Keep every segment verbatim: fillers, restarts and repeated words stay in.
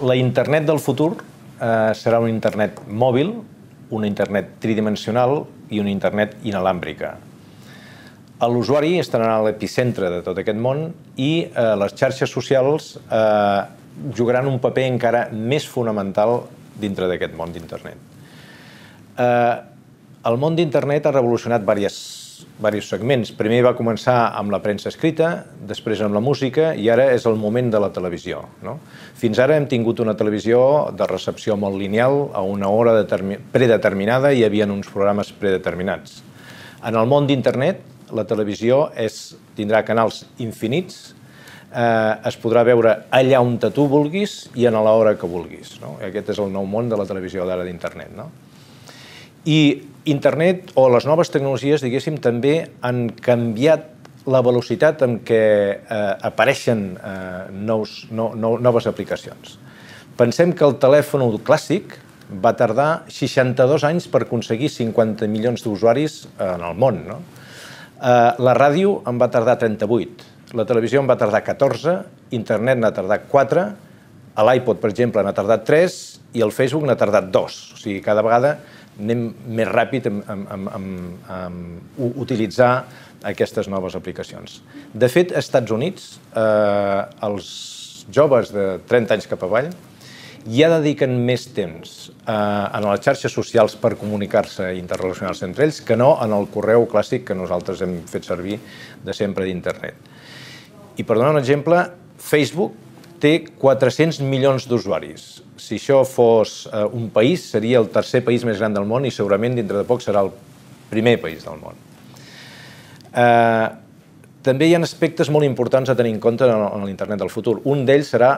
La internet del futur eh, serà una internet mòbil, una internet tridimensional i una internet inalàmbrica. L'usuari estarà a l'epicentre de tot aquest món i eh, les xarxes socials eh, jugaran un paper encara més fonamental dintre d'aquest món d'internet. Eh, el món d'internet ha revolucionat diversos diversos segments. Primer va començar amb la premsa escrita, després amb la música i ara és el moment de la televisió. No? Fins ara hem tingut una televisió de recepció molt lineal, a una hora predeterminada i hi havia uns programes predeterminats. En el món d'internet, la televisió és, tindrà canals infinits, eh, es podrà veure allà on tu vulguis i a l'hora que vulguis. No? Aquest és el nou món de la televisió d'ara d'internet. No? I internet o les noves tecnologies, diguéssim, també han canviat la velocitat amb què eh, apareixen eh, nous, no, no, noves aplicacions. Pensem que el telèfon clàssic va tardar seixanta-dos anys per aconseguir cinquanta milions d'usuaris en el món. No? Eh, la ràdio en va tardar trenta-vuit, la televisió en va tardar catorze, internet n'ha tardat quatre, l'iPod, per exemple, n'ha tardat tres i el Facebook n'ha tardat dos. O sigui, cada vegada anem més ràpid en, en, en, en, en utilitzar aquestes noves aplicacions. De fet, als Estats Units, eh, els joves de trenta anys cap avall ja dediquen més temps eh, en les xarxes socials per comunicar-se i interrelacionar-se entre ells que no en el correu clàssic que nosaltres hem fet servir de sempre d'internet. I per donar un exemple, Facebook té quatre-cents milions d'usuaris. Si això fos eh, un país, seria el tercer país més gran del món i segurament dintre de poc serà el primer país del món. Eh, també hi ha aspectes molt importants a tenir en compte en, en l'internet del futur. Un d'ells serà,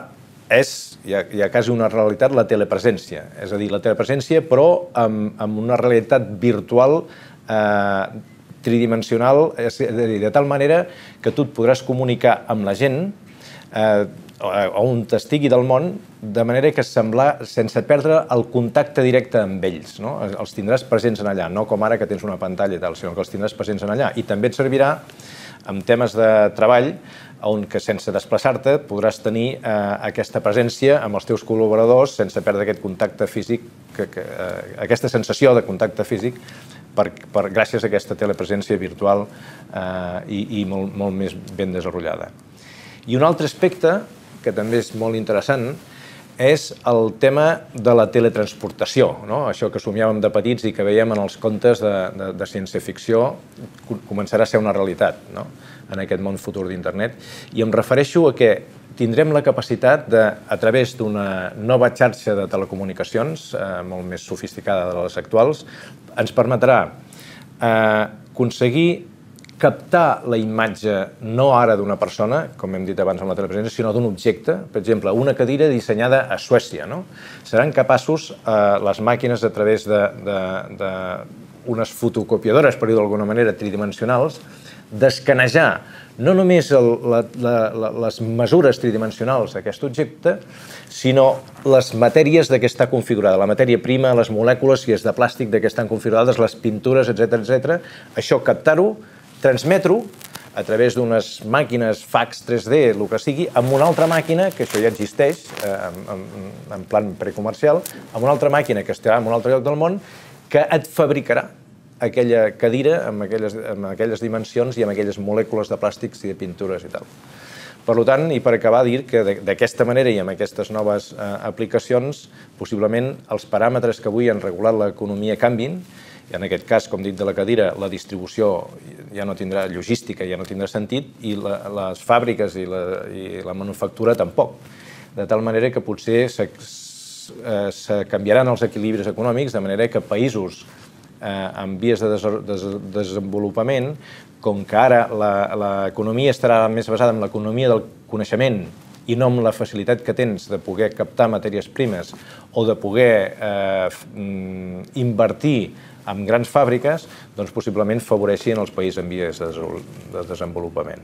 és, ja, ja quasi una realitat, la telepresència. És a dir, la telepresència però amb, amb una realitat virtual eh, tridimensional, és a dir, de tal manera que tu et podràs comunicar amb la gent eh, on estigui del món, de manera que semblar, sense perdre el contacte directe amb ells. No? Els tindràs presents en allà, no com ara que tens una pantalla i tal, sinó que els tindràs presents en allà. I també et servirà en temes de treball, on que sense desplaçar-te podràs tenir eh, aquesta presència amb els teus col·laboradors sense perdre aquest contacte físic, que, que, eh, aquesta sensació de contacte físic per, per, gràcies a aquesta telepresència virtual eh, i, i molt, molt més ben desenvolupada. I un altre aspecte que també és molt interessant, és el tema de la teletransportació. No? Això que somiàvem de petits i que veiem en els contes de, de, de ciència-ficció començarà a ser una realitat, no? En aquest món futur d'internet. I em refereixo a que tindrem la capacitat de, a través d'una nova xarxa de telecomunicacions, eh, molt més sofisticada de les actuals, ens permetrà eh, aconseguir captar la imatge no ara d'una persona, com hem dit abans amb la telepresència, sinó d'un objecte, per exemple, una cadira dissenyada a Suècia. No? Seran capaços eh, les màquines a través d'unes fotocopiadores, per dir-ho d'alguna manera, tridimensionals, d'escanejar no només el, la, la, la, les mesures tridimensionals d'aquest objecte, sinó les matèries de què està configurada, la matèria prima, les molècules, si és de plàstic, de què estan configurades, les pintures, etcètera, etcètera. Això captar-ho, transmetre-ho a través d'unes màquines fax tres D, el que sigui, amb una altra màquina, que això ja existeix eh, en, en plan precomercial, amb una altra màquina que estarà en un altre lloc del món, que et fabricarà aquella cadira amb aquelles, amb aquelles dimensions i amb aquelles molècules de plàstics i de pintures i tal. Per tant, i per acabar, dir que d'aquesta manera i amb aquestes noves eh, aplicacions, possiblement els paràmetres que avui han regulat l'economia canvin, i en aquest cas, com dic de la cadira, la distribució ja no tindrà logística, ja no tindrà sentit, i la, les fàbriques i la, i la manufactura tampoc. De tal manera que potser se, se canviaran els equilibris econòmics, de manera que països eh, en vies de, des, de desenvolupament, com que ara l'economia estarà més basada en l'economia del coneixement i no amb la facilitat que tens de poder captar matèries primes o de poder eh, invertir en grans fàbriques, doncs possiblement favoreixin els països en vies de desenvolupament.